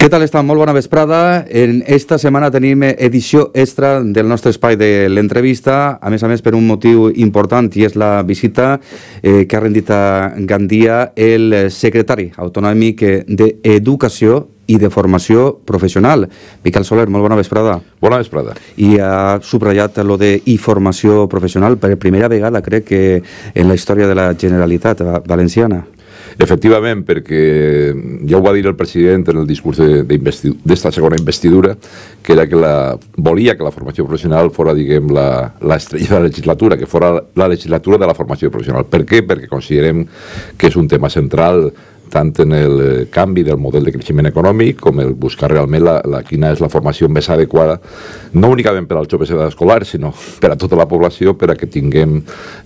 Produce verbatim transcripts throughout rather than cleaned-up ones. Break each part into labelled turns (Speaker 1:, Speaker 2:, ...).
Speaker 1: Què tal està? Molt bona vesprada. En esta setmana tenim edició extra del nostre espai de l'entrevista, a més a més per un motiu important, i és la visita eh, que ha rendit a Gandia el secretari autonòmic d'Educació i de Formació Professional. Miquel Soler, molt bona vesprada.
Speaker 2: Bona vesprada.
Speaker 1: I ha subratllat lo de i formació professional per primera vegada, crec que en la història de la Generalitat Valenciana.
Speaker 2: Efectivament, perquè ja ho va dir el president en el discurs d'esta segona investidura, que era que la, volia que la formació professional fora, diguem, l'estrella de la legislatura, que fora la legislatura de la formació professional. Per què? Perquè considerem que és un tema central tant en el canvi del model de creixement econòmic com el buscar realment la, la, quina és la formació més adequada, no únicament per als joves d'edat escolar, sinó per a tota la població, per a que tinguem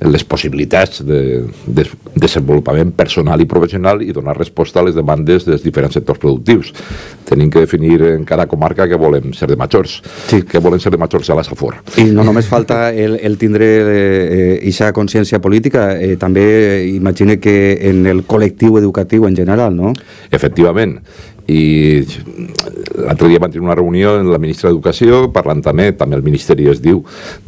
Speaker 2: les possibilitats de, de desenvolupament personal i professional i donar resposta a les demandes dels diferents sectors productius. Tenim que definir en cada comarca que volem ser de majors, sí. que volen ser de majors a la Safor.
Speaker 1: I no només falta el, el tindre aquesta eh, consciència política, eh, també imagine que en el col·lectiu educatiu en general, no?
Speaker 2: Efectivament. I l'altre dia van tenir una reunió amb la ministra d'Educació, parlant també, també el Ministeri es diu,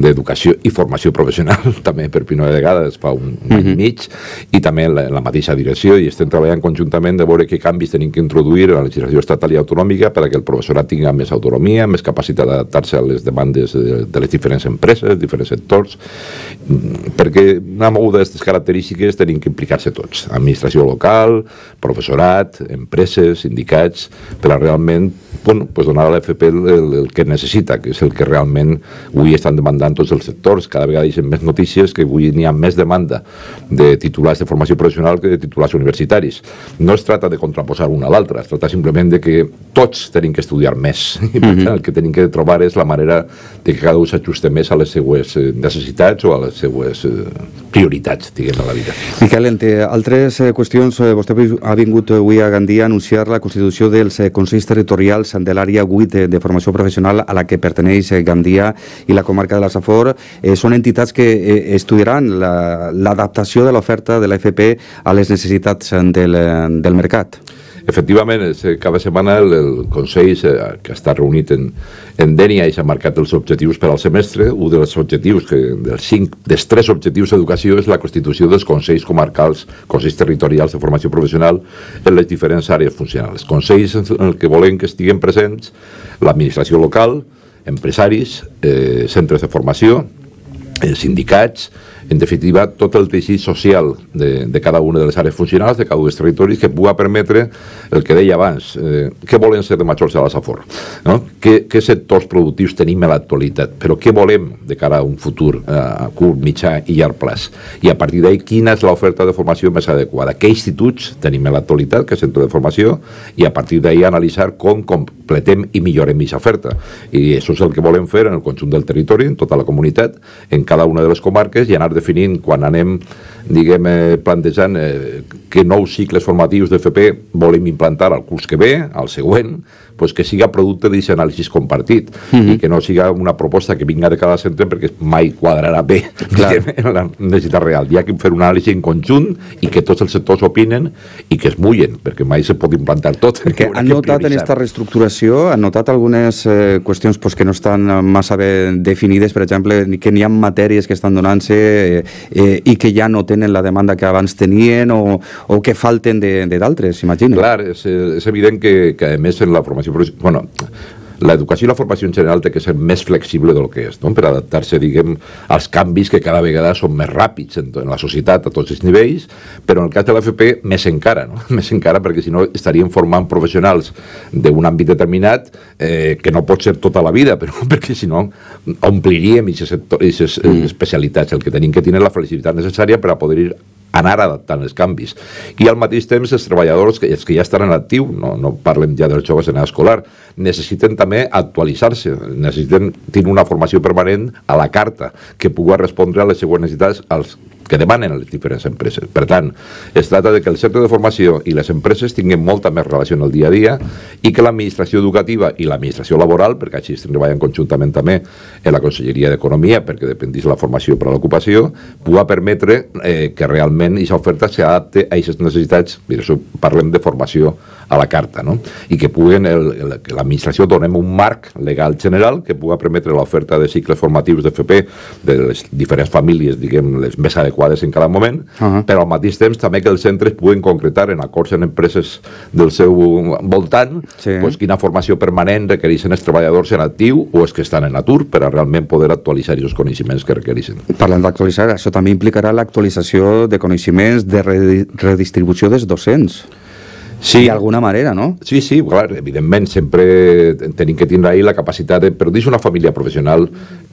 Speaker 2: d'Educació i Formació Professional, també per primera vegada, es fa un, un any i mig, i també en la, en la mateixa direcció, i estem treballant conjuntament de veure què canvis tenim que introduir en la legislació estatal i autonòmica perquè el professorat tingui més autonomia, més capacitat d'adaptar-se a les demandes de, de les diferents empreses, diferents sectors, perquè una moguda d'aquestes característiques tenim que implicar-se tots, administració local, professorat, empreses, sindicats, per a realment bueno, pues donar a l'F P el, el, el que necessita, que és el que realment avui estan demandant tots els sectors. Cada vegada hi ha més notícies que avui n'hi ha més demanda de titulars de formació professional que de titulars universitaris. No es tracta de contraposar una a l'altra, es tracta simplement de que tots tenim que estudiar més i per tant el que tenim que trobar és la manera de que cada un s'ajuste més a les seues necessitats o a les seues prioritats, diguem, a la vida.
Speaker 1: Miquel, entre altres qüestions, vostè ha vingut avui a Gandia a anunciar la constitució dels Consells Territorials de l'àrea vuit de, de formació professional a la que perteneix Gandia i la comarca de la Safor. Eh, són entitats que eh, estudiaran l'adaptació la, de l'oferta de l'F P a les necessitats del, del mercat.
Speaker 2: Efectivament, cada setmana el, el Consell que està reunit en, en Dénia i s'ha marcat els objectius per al semestre. Un dels objectius, que, dels, cinc, dels tres objectius d'educació és la constitució dels Consells Comarcals, Consells Territorials de Formació Professional en les diferents àrees funcionals. Consells en el que volem que estiguen presents l'administració local, empresaris, eh, centres de formació, eh, sindicats, en definitiva, tot el teixit social de, de cada una de les àrees funcionals, de cada un dels territoris, que pugui permetre el que deia abans, eh, què volen ser de majors de la Safor, no? Què, què sectors productius tenim a l'actualitat, però què volem de cara a un futur eh, a curt, mitjà i llarg plaç, i a partir d'ahí quina és l'oferta de formació més adequada, què instituts tenim a l'actualitat, que és centre de formació, i a partir d'ahí analitzar com completem i millorem aquesta oferta, i això és el que volem fer en el conjunt del territori, en tota la comunitat, en cada una de les comarques, i anar definint quan anem, diguem, eh, plantejant eh, que nous cicles formatius d'F P volem implantar al curs que ve, al següent, pues que siga producte d'aquest anàlisi compartit mm-hmm. i que no siga una proposta que vinga de cada centre perquè mai quadrarà bé diguem, en la necessitat real. Hi ha que fer un anàlisi en conjunt i que tots els sectors opinen i que es mullen, perquè mai se pot implantar tot.
Speaker 1: Perquè han notat en aquesta reestructuració, han notat algunes eh, qüestions pues, que no estan massa bé definides, per exemple, que n'hi ha matèries que estan donant-se eh, eh, i que ja no tenen la demanda que abans tenien o, o que falten d'altres, imagino.
Speaker 2: Clar, és, és evident que, que a més en la formació, bueno, l'educació i la formació en general té que ser més flexible del que és, no? Per adaptar-se, diguem, als canvis que cada vegada són més ràpids en, en la societat a tots els nivells, però en el cas de l'F P més encara, no? Més encara perquè si no estaríem formant professionals d'un àmbit determinat eh, que no pot ser tota la vida, però perquè si no ompliríem aquestes mm. especialitats. El que tenim que tenir la flexibilitat necessària per a poder ir anar adaptant els canvis. I al mateix temps els treballadors, que, els que ja estan en actiu, no, no parlem ja dels joves en edat escolar, necessiten també actualitzar-se, necessiten tenir una formació permanent a la carta, que pugui respondre a les següents necessitats als que demanen a les diferents empreses. Per tant, es tracta de que el centre de formació i les empreses tinguin molta més relació en el dia a dia i que l'administració educativa i l'administració laboral, perquè així estem treballant conjuntament també en la Conselleria d'Economia, perquè dependís la formació per a l'ocupació, pugui permetre eh, que realment aquesta oferta s'adapte a aquestes necessitats. Per això parlem de formació a la carta, no? I que puguen, el, el, que l'administració donem un marc legal general que pugui permetre l'oferta de cicles formatius d'F P de les diferents famílies, diguem, les més adequades en cada moment, uh-huh. però al mateix temps també que els centres puguen concretar en acords en empreses del seu voltant sí. pues, quina formació permanent requereixen els treballadors en actiu o els que estan en atur per a realment poder actualitzar els coneixements que requereixen.
Speaker 1: Parlant d'actualitzar, això també implicarà l'actualització de coneixements de redistribució dels docents.
Speaker 2: Sí.
Speaker 1: D'alguna manera, no?
Speaker 2: Sí, sí, clar, evidentment, sempre tenim que tindre ahí la capacitat de... Però dins una família professional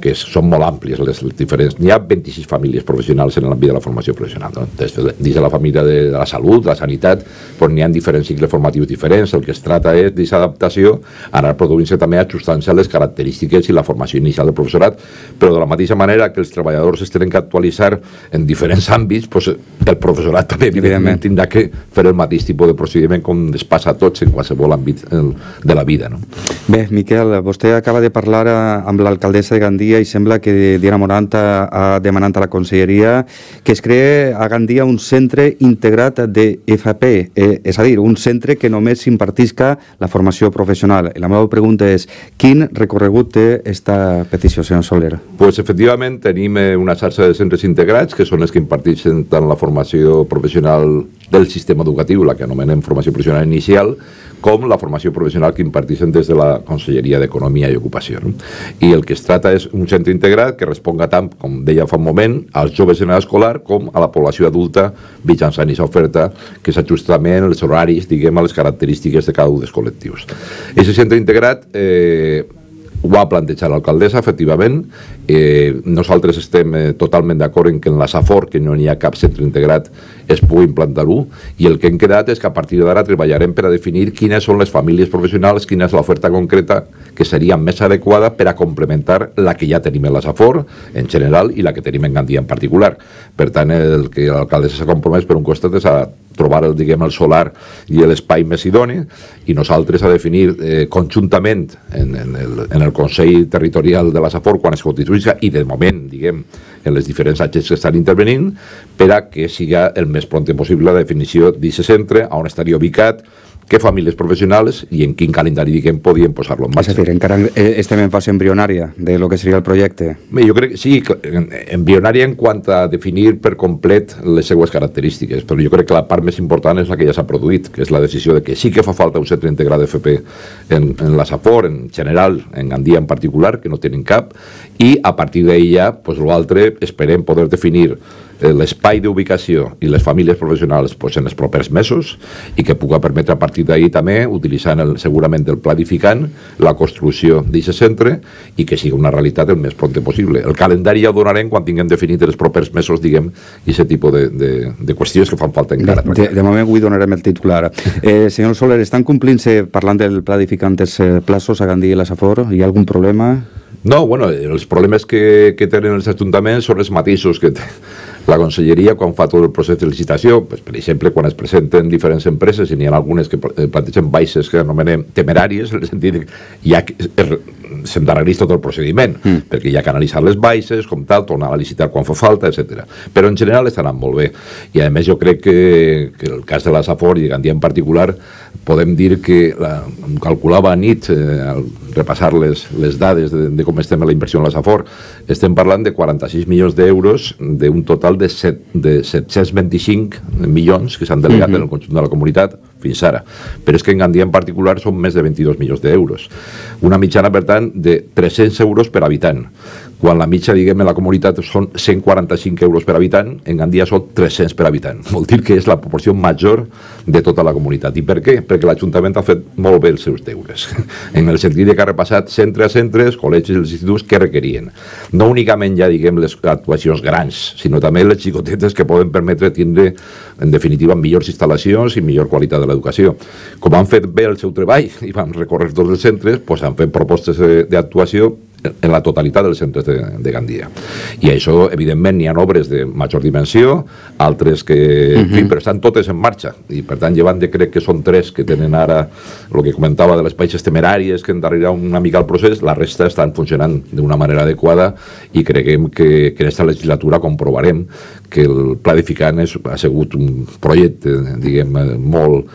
Speaker 2: que són molt àmplies les diferents... N'hi ha vint-i-sis famílies professionals en l'àmbit de la formació professional, no? Des de, dins de la família de, de la salut, de la sanitat, doncs n'hi ha diferents cicles formatius diferents. El que es tracta és d'aquesta adaptació, anar produint-se també ajustant-se a les característiques i la formació inicial del professorat, però de la mateixa manera que els treballadors es tenen que actualitzar en diferents àmbits, doncs el professorat també evidentment tindrà que fer el mateix tipus de procediment com es passa a tots en qualsevol àmbit de la vida, no?
Speaker 1: Bé, Miquel, vostè acaba de parlar amb l'alcaldessa de Gandia i sembla que Diana Morant ha demanat a la conselleria que es cree a Gandia un centre integrat de F P, eh, és a dir, un centre que només impartisca la formació professional. I la meva pregunta és, quin recorregut té esta petició, senyor Soler?
Speaker 2: Pues efectivament tenim una xarxa de centres integrats que són els que imparteixen tant la formació professional del sistema educatiu, la que anomenem formació professional inicial, com la formació professional que imparteixen des de la Conselleria d'Economia i Ocupació. No? I el que es tracta és un centre integrat que responga tant, com deia fa un moment, als joves en escolar com a la població adulta mitjançant aquesta oferta que s'ajusta també en els horaris, diguem, a les característiques de cada un dels col·lectius. Aquest centre integrat eh, ho ha plantejat l'alcaldessa, efectivament. Eh, nosaltres estem eh, totalment d'acord en que en la Safor, que no n'hi ha cap centre integrat, es pugui implantar-ho, i el que hem quedat és que a partir d'ara treballarem per a definir quines són les famílies professionals, quina és l'oferta concreta que seria més adequada per a complementar la que ja tenim en la Safor, en general, i la que tenim en Gandia en particular. Per tant, el que l'alcaldessa s'ha compromès per un costat és a trobar el, diguem, el solar i l'espai més idoni, i nosaltres a definir eh, conjuntament en, en, el, en el Consell Territorial de la Safor quan es constituïsca, i de moment, diguem, en les diferents agents que estan intervenint, per a que siga el més pront possible la definició d'aquest centre, on estaria ubicat, què famílies professionals i en quin calendari, diguem, podien posar-lo en marxa.
Speaker 1: És a dir, encara estem en fase embrionària de lo que seria el projecte.
Speaker 2: Bé, jo crec que sí, embrionària en quant a definir per complet les seues característiques, però jo crec que la part més important és la que ja s'ha produït, que és la decisió de que sí que fa falta un centre integrat d'F P en, en la Safor, en general, en Gandia en particular, que no tenen cap, i a partir d'ella, pues, l'altre, esperem poder definir l'espai d'ubicació i les famílies professionals pues, en els propers mesos, i que pugui permetre a partir d'ahir també, utilitzant el, segurament el planificant, la construcció d'aquest centre, i que sigui una realitat el més pront possible. El calendari ja ho donarem quan tinguem definit els propers mesos, diguem, i aquest tipus de, de, de qüestions que fan falta encara.
Speaker 1: De, de moment avui donarem el titular. Eh, senyor Soler, estan complint-se, parlant del planificant, els plaços a Gandia i la Safor? Hi ha algun problema?
Speaker 2: No, bueno, els problemes que, que tenen els ajuntaments són els mateixos que té la conselleria quan fa tot el procés de licitació. Pues, per exemple, quan es presenten diferents empreses, i n'hi ha algunes que plantegen baixes que anomenem temeràries, en el sentit que ja s'endarrereix tot el procediment, mm. perquè hi ha que analitzar les baixes, com tal, tornar a licitar quan fa falta, etcètera. Però en general estan anant molt bé. I a més jo crec que, que el cas de la Safor i de Gandia en particular, podem dir que la, calculava a nit, eh, al repassar les, les dades de, de com estem a la inversió en la Safor, estem parlant de quaranta-sis milions d'euros d'un total de, set, de set-cents vint-i-cinc milions que s'han delegat mm-hmm. en el conjunt de la comunitat fins ara. Però és que en Gandia en particular són més de vint-i-dos milions d'euros. Una mitjana, per tant, de tres-cents euros per habitant. Quan la mitja, diguem, en la comunitat són cent quaranta-cinc euros per habitant, en Gandia són tres-cents per habitant. Vol dir que és la proporció major de tota la comunitat. I per què? Perquè l'Ajuntament ha fet molt bé els seus deures. En el sentit que ha repassat centre a centres, col·legis i els instituts que requerien. No únicament ja, diguem, les actuacions grans, sinó també les xicotetes que poden permetre tindre, en definitiva, millors instal·lacions i millor qualitat de l'educació. Com han fet bé el seu treball i van recórrer tots els centres, doncs han fet propostes d'actuació en la totalitat dels centres de, de Gandia. I això, evidentment, n'hi ha obres de major dimensió, altres que, uh-huh. en fi, però estan totes en marxa. I, per tant, llevant de, crec que són tres que tenen ara el que comentava de les baixes temeràries que endarrerà una mica el procés, la resta estan funcionant d'una manera adequada, i creguem que, que en aquesta legislatura comprovarem que el planificant és, ha sigut un projecte, diguem, molt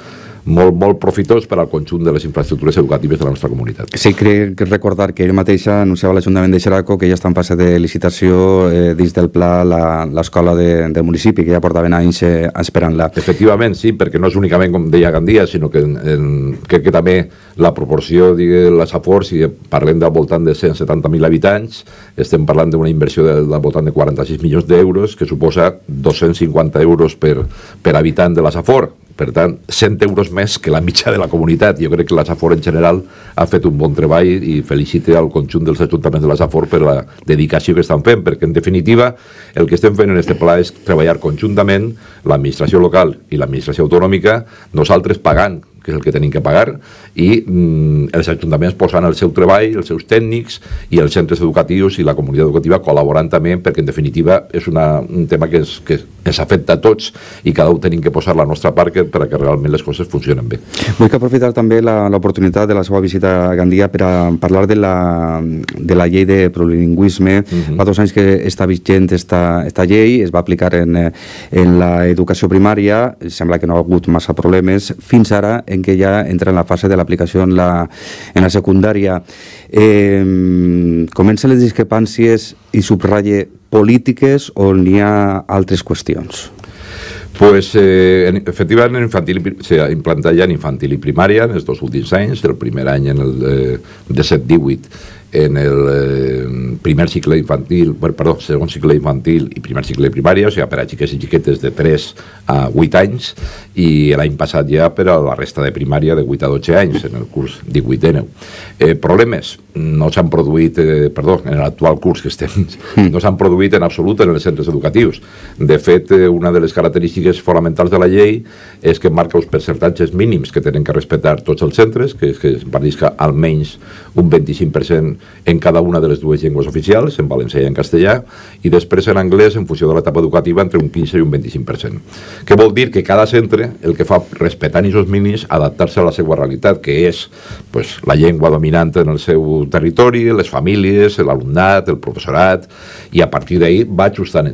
Speaker 2: molt, molt profitós per al conjunt de les infraestructures educatives de la nostra comunitat.
Speaker 1: Sí, crec recordar que ell mateixa anunciava l'Ajuntament de Xeraco que ja està en fase de licitació eh, dins del pla l'escola de, del municipi, que ja portaven anys eh, esperant-la.
Speaker 2: Efectivament, sí, perquè no és únicament, com deia Gandia, sinó que en, en, crec que també la proporció de la Safor, si parlem del voltant de cent setanta mil habitants, estem parlant d'una inversió del, del voltant de quaranta-sis milions d'euros, que suposa dos-cents cinquanta euros per, per habitant de la Safor. Per tant, cent euros més que la mitja de la comunitat. Jo crec que la Safor en general ha fet un bon treball i felicite al conjunt dels ajuntaments de la Safor per la dedicació que estan fent, perquè en definitiva el que estem fent en aquest pla és treballar conjuntament l'administració local i l'administració autonòmica, nosaltres pagant, que és el que tenim que pagar, i mm, els ajuntaments posant el seu treball, els seus tècnics i els centres educatius i la comunitat educativa col·laborant també, perquè en definitiva és una, un tema que, és, que ens afecta a tots i cada un tenim que posar la nostra part perquè realment les coses funcionen bé.
Speaker 1: Vull que aprofitar també l'oportunitat de la seva visita a Gandia per a parlar de la, de la llei de plurilingüisme. Uh-huh. Fa dos anys que està vigent esta, esta llei, es va aplicar en, en l'educació primària, sembla que no ha hagut massa problemes, fins ara en què ja entra en la fase de l'aplicació en, la, en la secundària. Eh, comencen les discrepàncies i subratlla polítiques o n'hi ha altres qüestions?
Speaker 2: Pues, eh, efectivament, en infantil s'ha implantat ja en infantil i primària en els dos últims anys, el primer any en el eh, disset divuit en el eh, primer cicle infantil, perdó, segon cicle infantil i primer cicle de primària, o sigui, per a xiques i xiquetes de tres a vuit anys, i l'any passat ja per a la resta de primària de vuit a dotze anys, en el curs divuit dinou. Eh, problemes no s'han produït, eh, perdó, en l'actual curs que estem, no s'han produït en absolut en els centres educatius. De fet, eh, una de les característiques fonamentals de la llei és que marca els percentatges mínims que tenen que respectar tots els centres, que és que es parlisca almenys un vint-i-cinc per cent en cada una de les dues llengües oficials, en valencià i en castellà, i després en anglès, en funció de l'etapa educativa, entre un quinze i un vint-i-cinc per cent. Què vol dir? Que cada centre el que fa, respectant aquests mínims, adaptar-se a la seva realitat, que és pues, la llengua dominant en el seu territori, les famílies, l'alumnat, el professorat, i a partir d'ahir va ajustant.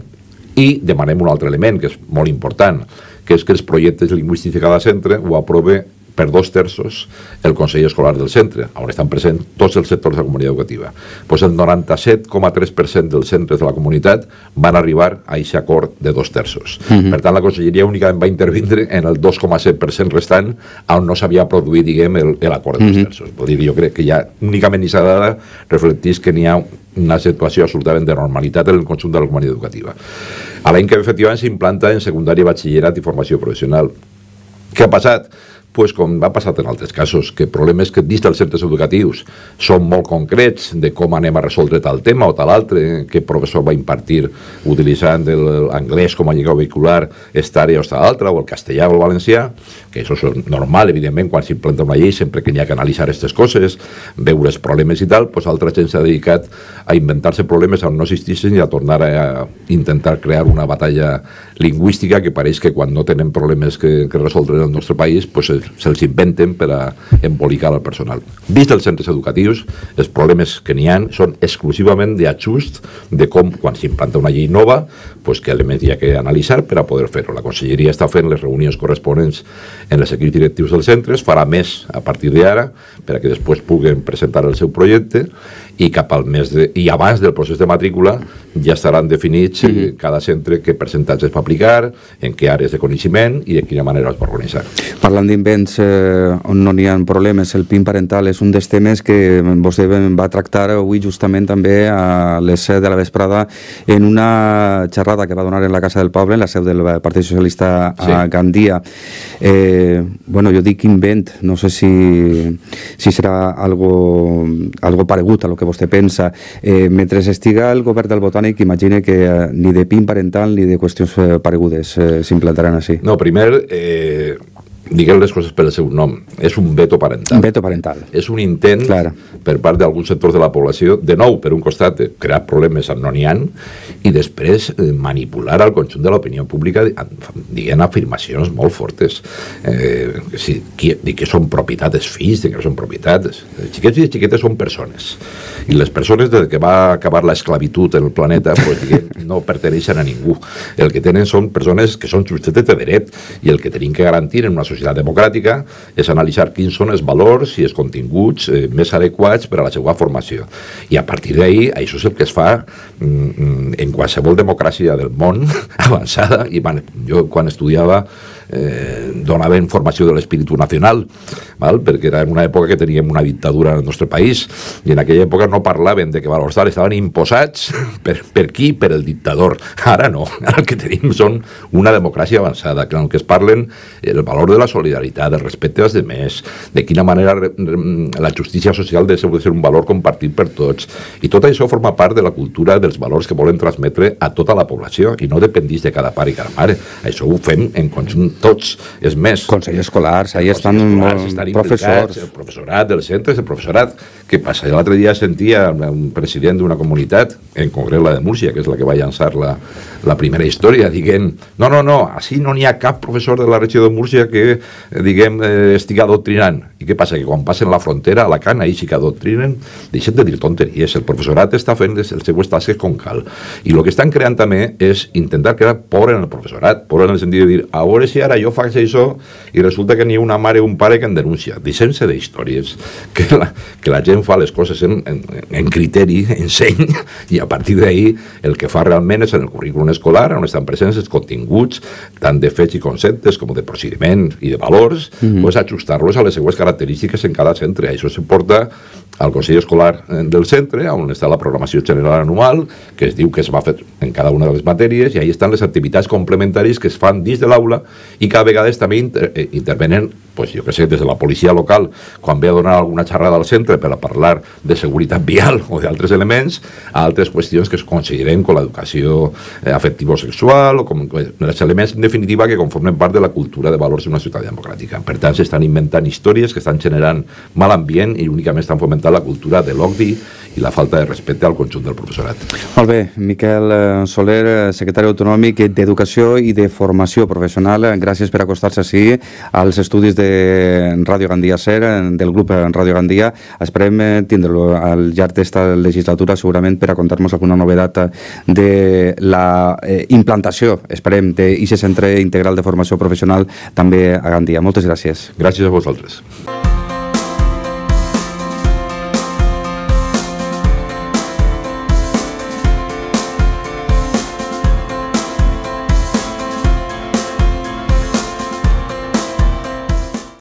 Speaker 2: I demanem un altre element, que és molt important, que és que els projectes lingüístics de cada centre ho aprove per dos terços el Consell Escolar del centre, on estan presents tots els sectors de la comunitat educativa. Pues el noranta-set coma tres per cent dels centres de la comunitat van arribar a aquest acord de dos terços. Uh-huh. Per tant, la Conselleria únicament va intervindre en el dos coma set per cent restant on no s'havia produït, diguem, l'acord de dos uh-huh. terços. Vull dir, jo crec que ja únicament aquesta dada reflecteix que n'hi ha una situació absolutament de normalitat en el conjunt de la comunitat educativa. A l'any que efectivament s'implanta en secundària, batxillerat i formació professional. Què ha passat? Pues com ha passat en altres casos, que problemes que dins dels centres educatius són molt concrets de com anem a resoldre tal tema o tal altre, que professor va impartir utilitzant l'anglès com a llengua vehicular esta àrea o esta altra, o el castellà o el valencià, que això és normal, evidentment, quan s'implanta una llei, sempre que n'hi ha que analitzar aquestes coses, veure els problemes i tal, pues altra gent s'ha dedicat a inventar-se problemes on no existissin i a tornar a intentar crear una batalla lingüística que pareix que quan no tenen problemes que, que resoldre en el nostre país, pues se'ls inventen per a embolicar el personal. Dins dels centres educatius, els problemes que n'hi ha són exclusivament d'ajust de com, quan s'implanta una llei nova, pues, que elements hi ha que analitzar per a poder fer-ho. La Conselleria està fent les reunions corresponents en els equips directius dels centres, farà més a partir d'ara, per a que després puguen presentar el seu projecte, i cap al mes de, i abans del procés de matrícula ja estaran definits mm -hmm. cada centre què percentatge es va aplicar, en què àrees de coneixement i de quina manera es va organitzar.
Speaker 1: Parlant d'invents eh, on no n'hi ha problemes, el P I N parental és un dels temes que vostè va tractar avui justament també a les set de la vesprada en una xerrada que va donar en la Casa del Poble, en la seu del Partit Socialista a sí. Gandia. Eh, bueno, jo dic invent, no sé si, si serà algo, algo paregut a lo que vostè pensa. Eh, mentre estiga el govern del Botànic, imagine que eh, ni de P I N parental ni de qüestions eh, paregudes eh, s'implantaran així.
Speaker 2: No, primer, eh, diguem les coses per el seu nom. És un veto parental.
Speaker 1: Un veto parental.
Speaker 2: És un intent Clara. per part d'alguns sectors de la població, de nou, per un costat, crear problemes on no n'hi ha, i després eh, manipular al conjunt de l'opinió pública dient afirmacions molt fortes. Eh, si, qui, dir que són propietat dels fills, dir que són propietats. Els xiquets i les xiquetes són persones. I les persones, des que va acabar l'esclavitud en el planeta, pues, diguem, no perteneixen a ningú. El que tenen són persones que són subjectes de dret i el que tenim que garantir en una societat democràtica és analitzar quins són els valors i els continguts eh, més adequats per a la seva formació. I a partir d'ahir, això és el que es fa mm, en qualsevol democràcia del món avançada. I van, jo quan estudiava eh, donava informació de l'espíritu nacional, val? Perquè era en una època que teníem una dictadura en el nostre país i en aquella època no parlaven de que valors tals estaven imposats per, per qui? Per el dictador. Ara no, ara el que tenim són una democràcia avançada, que en el que es parlen el valor de la solidaritat, el respecte als demés, de quina manera la justícia social ha de ser un valor compartit per tots, i tot això forma part de la cultura dels valors que volen transmetre a tota la població i no dependís de cada pare i cada mare. Això ho fem en conjunt tots. És més,
Speaker 1: Consell escolar, ahí estan professors,
Speaker 2: el professorat dels centres, el professorat. Què passa? L'altre dia sentia un president d'una comunitat, en concret la de Múrcia, que és la que va llançar la, la primera història, diguem, no, no, no, així no n'hi ha cap professor de la regió de Múrcia que, diguem, eh, estigui adoctrinant. I què passa? Que quan passen la frontera, a Alacant, ahir sí que adoctrinen, deixen de dir tonteries. El professorat està fent les seues tasques com cal. I el que estan creant també és intentar crear por en el professorat, por en el sentit de dir, a veure si ara jo faig això i resulta que n'hi ha una mare o un pare que en denuncia. Deixem-se d'històries, que la, que la gent fa les coses en, en, en criteri, en seny, i a partir d'ahir el que fa realment és en el currículum escolar, on estan presents els continguts, tant de fets i conceptes com de procediment i de valors, mm-hmm. pues ajustar-los a les seues característiques en cada centre. Això se porta al Consell Escolar del centre, on està la programació general anual, que es diu que es va fer en cada una de les matèries, i ahí estan les activitats complementàries que es fan dins de l'aula i que a vegades també inter intervenen, pues, jo que sé, des de la policia local, quan ve a donar alguna xerrada al centre per a parlar de seguretat vial o d'altres elements, a altres qüestions que es consideren com l'educació eh, afectivo-sexual o com els elements, en definitiva, que conformen part de la cultura de valors d'una ciutat democràtica. Per tant, s'estan inventant històries que estan generant mal ambient i únicament estan fomentant la cultura de l'odi i la falta de respecte al conjunt del professorat.
Speaker 1: Molt bé, Miquel Soler, secretari autonòmic d'Educació i de Formació Professional, gràcies per acostar-se així als estudis de Ràdio Gandia Ser, del grup Ràdio Gandia. Esperem tindre-lo al llarg d'esta legislatura, segurament, per a contar-nos alguna novedat de la implantació, esperem, d'aquest centre integral de formació professional també a Gandia. Moltes gràcies.
Speaker 2: Gràcies a vosaltres.